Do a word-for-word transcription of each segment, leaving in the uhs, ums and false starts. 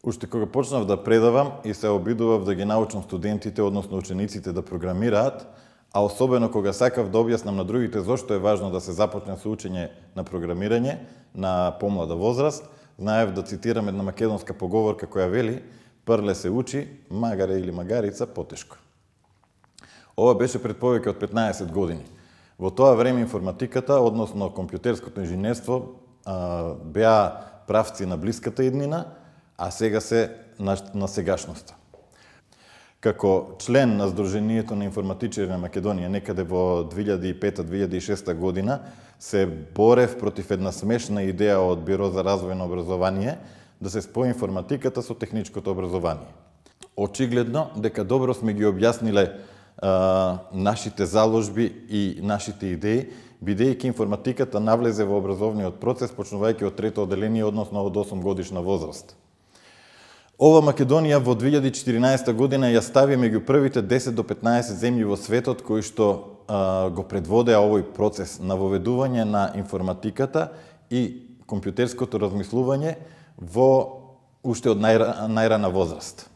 Уште кога почнав да предавам и се обидував да ги научам студентите, односно учениците да програмираат, а особено кога сакав да објаснам на другите зошто е важно да се започне со учење на програмирање на помлада возраст, знаев да цитирам една македонска поговорка која вели: "Прле се учи, магаре или магарица потешко." Ова беше пред повеќе од петнаесет години. Во тоа време информатиката, односно компјутерското инженерство, беа правци на блиската иднина, а сега се на, на сегашноста. Како член на Сдруженијето на информатичари на Македонија некаде во две илјади и пета - две илјади и шеста година се борев против една смешна идеја од Биро за развој на образование да се спои информатиката со техничкото образование. Очигледно дека добро сме ги објасниле а, нашите заложби и нашите идеи, бидејќи информатиката навлезе во образовниот процес почнувајќи од трето оделение, односно од осум годишна возраст. Ова Македонија во две илјади и четиринаесета година ја стави меѓу првите десет до петнаесет земји во светот кои што а, го предводеа овој процес на воведување на информатиката и компјутерското размислување во уште од најра, најрана возраст.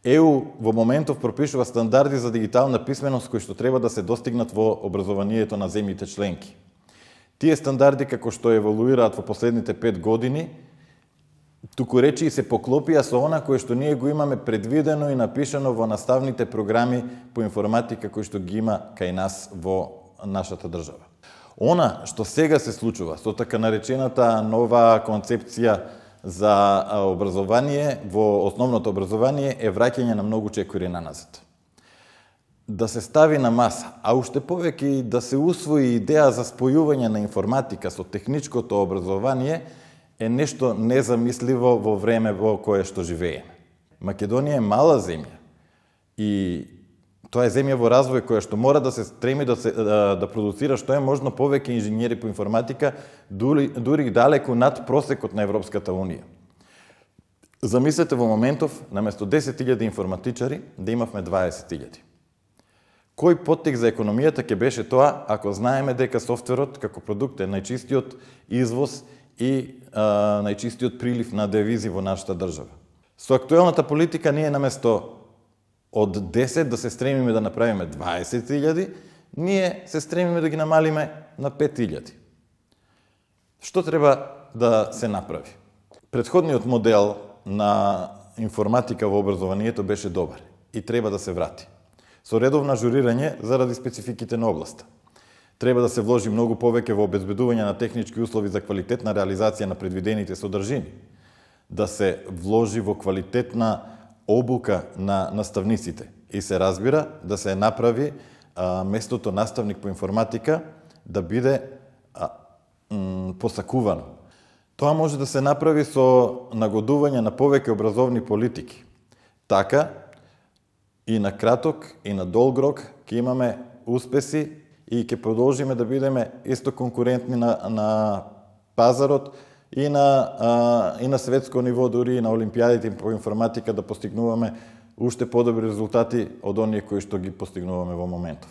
ЕУ во моментов пропишува стандарди за дигитална писменост кои што треба да се достигнат во образованието на земјите членки. Тие стандарди, како што еволуираат во последните пет години, туку речи и се поклопија со она кое што ние го имаме предвидено и напишано во наставните програми по информатика кои што ги има кај нас во нашата држава. Она што сега се случува со така наречената нова концепција за образование во основното образование е враќање на многу чекори наназад. Да се стави на маса, а уште повеќе и да се усвои идеја за спојување на информатика со техничкото образование е нешто незамисливо во време во кое што живееме. Македонија е мала земја и тоа е земја во развој која што мора да се стреми да, се, да, да продуцира што е можно повеќе инженери по информатика, дури, дури далеку над просекот на Европската Унија. Замислете во моментов, наместо десет илјади информатичари, да имавме дваесет илјади. Кој поттик за економијата ќе беше тоа ако знаеме дека софтверот како продукт е најчистиот извоз и а, најчистиот прилив на девизи во нашата држава? Со актуелната политика ние наместо од десет да се стремиме да направиме дваесет илјади, ние се стремиме да ги намалиме на пет илјади. Што треба да се направи? Претходниот модел на информатика во образованието беше добар и треба да се врати. Со редовно ажурирање заради спецификите на областа. Треба да се вложи многу повеќе во обезбедување на технички услови за квалитетна реализација на предвидените содржини, да се вложи во квалитетна обука на наставниците и се разбира да се направи а, местото наставник по информатика да биде а, м, посакувано. Тоа може да се направи со нагодување на повеќе образовни политики. Така и на краток и на долг рок ќе имаме успеси и ќе продолжиме да бидеме исто конкурентни на, на пазарот и на, а, и на светско ниво, дури и на олимпијадите по информатика да постигнуваме уште подобри резултати од оние кои што ги постигнуваме во моментов.